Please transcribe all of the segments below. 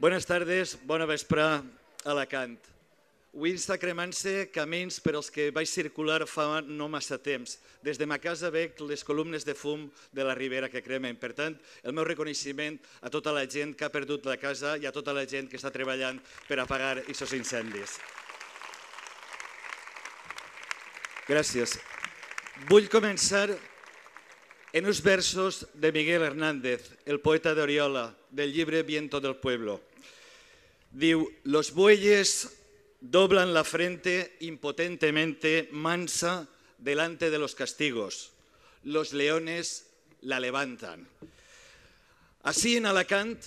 Bones tardes, bona vesprà a Alacant. Avui està cremant-se camins per als que vaig circular fa no massa temps. Des de ma casa veig les columnes de fum de la Ribera que cremen. Per tant, el meu reconeixement a tota la gent que ha perdut la casa i a tota la gent que està treballant per apagar aquests incendis. Gràcies. Vull començar en uns versos de Miguel Hernández, el poeta d'Oriola, del llibre Viento del Pueblo. Diu, los bueyes doblan la frente impotentemente mansa delante de los castigos. Los leones la levantan. Així en Alacant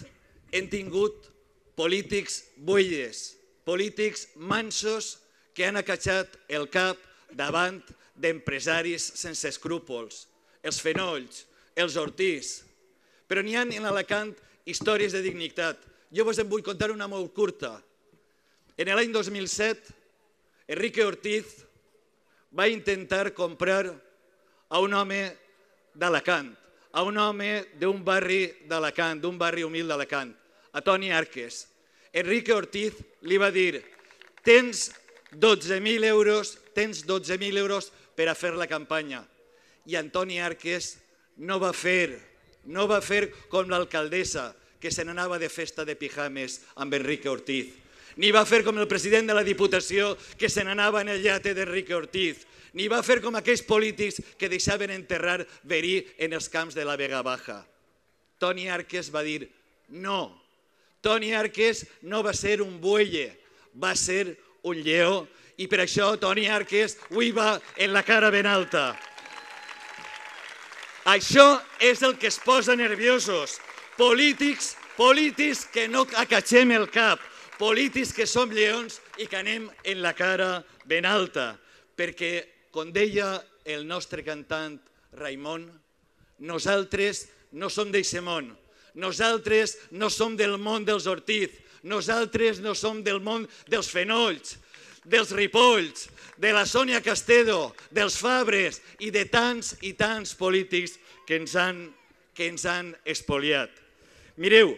hem tingut polítics bueyes, polítics mansos que han acatxat el cap davant d'empresaris sense escrúpols, els Fenolls, els Ortiz. Però n'hi ha en Alacant històries de dignitat. Jo vos en vull contar una molt curta. En l'any 2007, Enrique Ortiz va intentar comprar a un home d'Alacant, a un home d'un barri d'Alacant, d'un barri humil d'Alacant, a Toni Arques. Enrique Ortiz li va dir, tens 12.000 euros per a fer la campanya. I Antoni Arques no va fer com l'alcaldessa, que se n'anava de festa de pijames amb Enrique Ortiz. Ni va fer com el president de la Diputació, que se n'anava en el llate d'Enrique Ortiz. Ni va fer com aquells polítics que deixaven enterrar verí en els camps de la Vega Baja. Toni Arques va dir no. Toni Arques no va ser un bueye, va ser un lleó. I per això Toni Arques avui va en la cara ben alta. Això és el que es posa nerviosos. Polítics que no acatxem el cap. Polítics que som lleons i que anem en la cara ben alta. Perquè, com deia el nostre cantant Raimon, nosaltres no som d'eixe món. Nosaltres no som del món dels Ortiz. Nosaltres no som del món dels Fenolls, dels Ripolls, de la Sònia Castedo, dels Fabres i de tants i tants polítics que ens han espoliat. Mireu,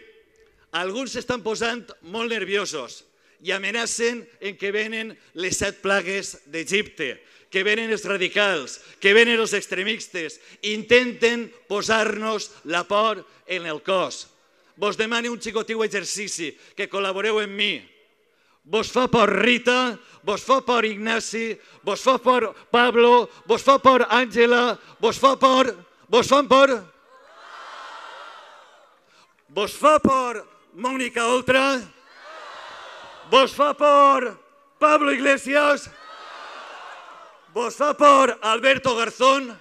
alguns s'estan posant molt nerviosos i amenacen en que venen les 7 plagues d'Egipte, que venen els radicals, que venen els extremistes, intenten posar-nos la por en el cos. Vos demano un xicotiu exercici, que col·laboreu amb mi. Vos fa por Rita, vos fa por Ignasi, vos fa por Pablo, vos fa por Àngela, vos fan por? Vos fa por Mónica Oltra? Vos fa por Pablo Iglesias? Vos fa por Alberto Garzón?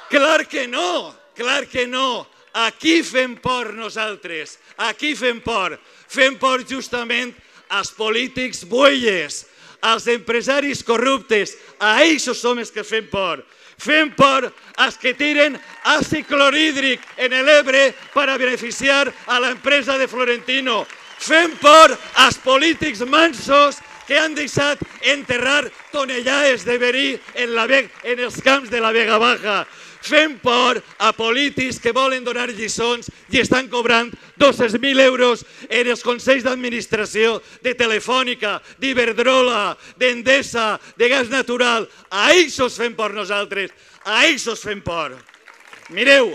Clar que no, clar que no. Aquí fem por nosaltres, aquí fem por. Fem por justament als polítics bueyes, als empresaris corruptes, a ells som els que fem por. Fem por als que tiren àcid clorhídric en l'Ebre per a beneficiar a l'empresa de Florentino. Fem por als polítics mansos que han deixat enterrar tonellades de verí en els camps de la Vega Baja. Fem por a polítics que volen donar lliçons i estan cobrant 200.000 euros en els consells d'administració de Telefònica, d'Iberdrola, d'Endesa, de Gas Natural. A ells fem por nosaltres, a ells fem por. Mireu,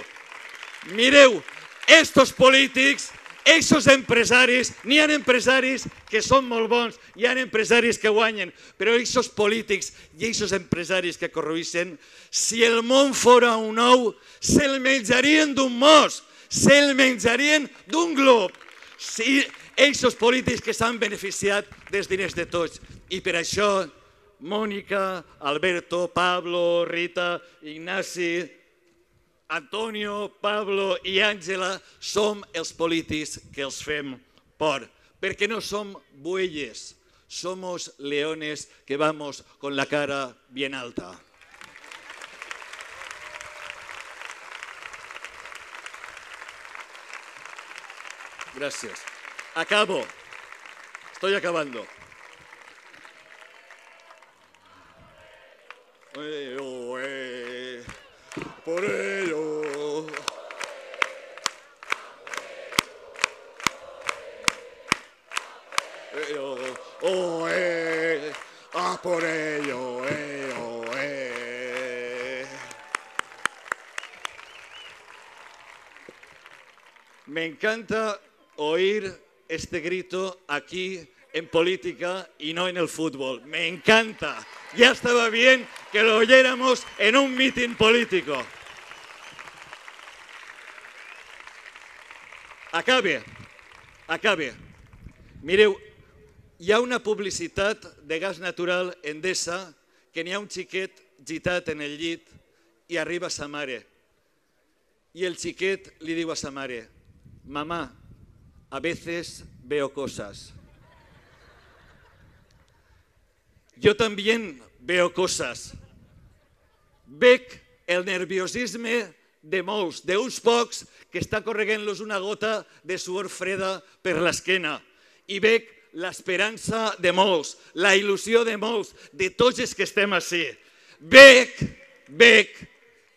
estos polítics, aquests empresaris, n'hi ha empresaris que són molt bons, hi ha empresaris que guanyen, però aquests polítics i aquests empresaris que corrueixen, si el món fora un ou, se'l menjarien d'un mos, se'l menjarien d'un glob. Si aquests polítics que s'han beneficiat dels diners de tots. I per això, Mònica, Alberto, Pablo, Rita, Ignasi, Antonio, Pablo i Àngela som els polítics que els fem por, perquè no som bueyes, somos leones que vamos con la cara bien alta. Gracias. Acabo. Estoy acabando. Por ello. A por ello, Me encanta oír este grito aquí en política y no en el fútbol. Me encanta. Ya estaba bien que lo oyéramos en un mitin político. Acabe. Mireu, hi ha una publicitat de gas natural Endesa que n'hi ha un xiquet gitat en el llit i arriba sa mare. I el xiquet li diu a sa mare: «Mamá, a veces veo cosas». Yo también veo cosas. Veig el nerviosisme de molts, d'uns pocs que està correguent-los una gota de suor freda per l'esquena. I veig l'esperança de molts, la il·lusió de molts, de tots els que estem ací. Veig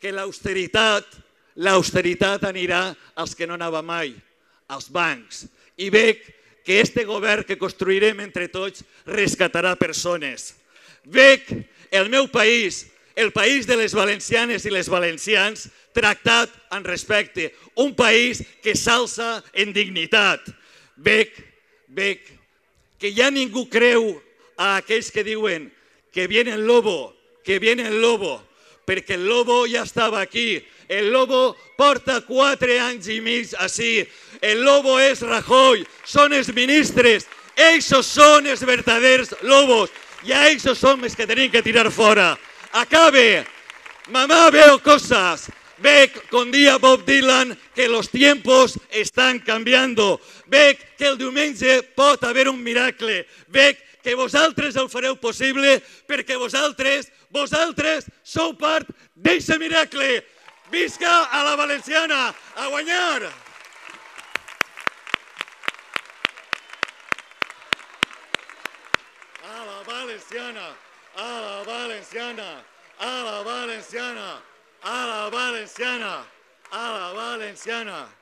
que l'austeritat anirà als que no anava mai, als bancs. I veig que este govern que construirem entre tots rescatarà persones. Veig el meu país, el país de les valencianes i les valencians, tractat amb respecte, un país que s'alça en dignitat. Veig que ja ningú creu a aquells que diuen que viene el lobo, perquè el lobo ja estava aquí. El lobo porta 4 anys i mig així. El lobo és Rajoy, són els ministres. Ells són els verdaders lobos i a ells som els que tenim que tirar fora. Acabe. Mamá, veo cosas. Veig, com dia Bob Dylan, que los tiempos están cambiando. Veig que el diumenge pot haver un miracle. Veig que vosaltres el fareu possible perquè vosaltres sou part d'aquest miracle. Visca a la valenciana! A guanyar! A la valenciana! A la valenciana! A la valenciana! A la valenciana! A la valenciana!